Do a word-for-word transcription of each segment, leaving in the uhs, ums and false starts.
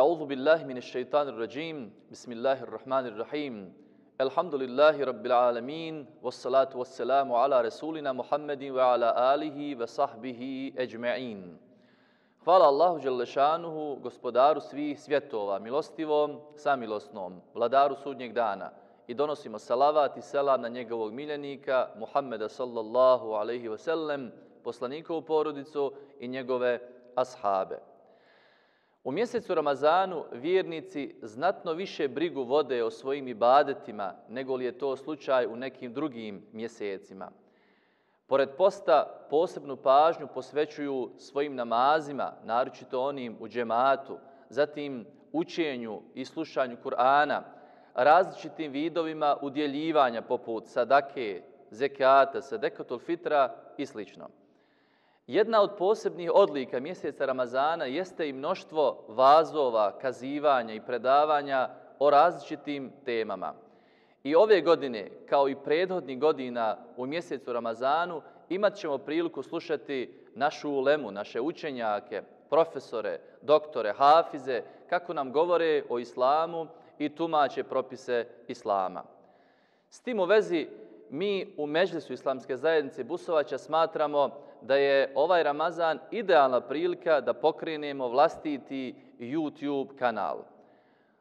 أعوذ بالله من الشيطان الرجيم بسم الله الرحمن الرحيم الحمد لله رب العالمين والصلاة والسلام على رسولنا محمد وعلى آله وصحبه أجمعين. Hvala Allahu Đelešanuhu, gospodaru svih svjetova, milostivom, samilosnom, vladaru sudnjeg dana. I donosimo salavat i selam na njegovog miljenika, Muhammeda sallallahu alaihi wasallam, poslanikovu porodicu i njegove ashabe. U mjesecu Ramazanu vjernici znatno više brigu vode o svojim ibadetima nego li je to slučaj u nekim drugim mjesecima. Pored posta posebnu pažnju posvećuju svojim namazima, naročito onim u džematu, zatim učenju i slušanju Kur'ana, različitim vidovima udjeljivanja poput sadake, zekata, sadekatul fitra i slično. Jedna od posebnih odlika mjeseca Ramazana jeste i mnoštvo vazova, kazivanja i predavanja o različitim temama. I ove godine, kao i prethodnih godina u mjesecu Ramazanu, imat ćemo priliku slušati našu ulemu, naše učenjake, profesore, doktore, hafize, kako nam govore o islamu i tumače propise islama. S tim u vezi, mi u Medžlisu Islamske zajednice Busovača smatramo da je ovaj Ramazan idealna prilika da pokrenemo vlastiti YouTube kanal.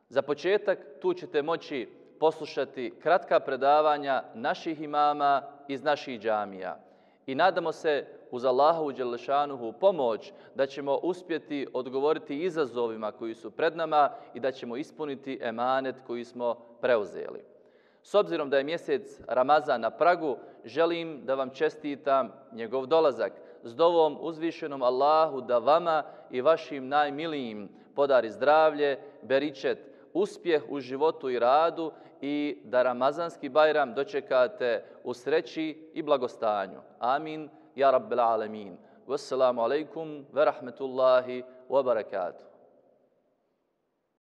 Za početak tu ćete moći poslušati kratka predavanja naših imama iz naših džamija. I nadamo se uz Allahovu Đelešanuhu pomoć da ćemo uspjeti odgovoriti izazovima koji su pred nama i da ćemo ispuniti emanet koji smo preuzeli. S obzirom da je mjesec Ramazan na pragu, želim da vam čestitam njegov dolazak s dovom uzvišenom Allahu da vama i vašim najmilijim podari zdravlje, beričet, uspjeh u životu i radu i da Ramazanski Bajram dočekate u sreći i blagostanju. Amin, ja rabbel alemin. Wassalamu alaikum wa rahmetullahi wa barakatuh.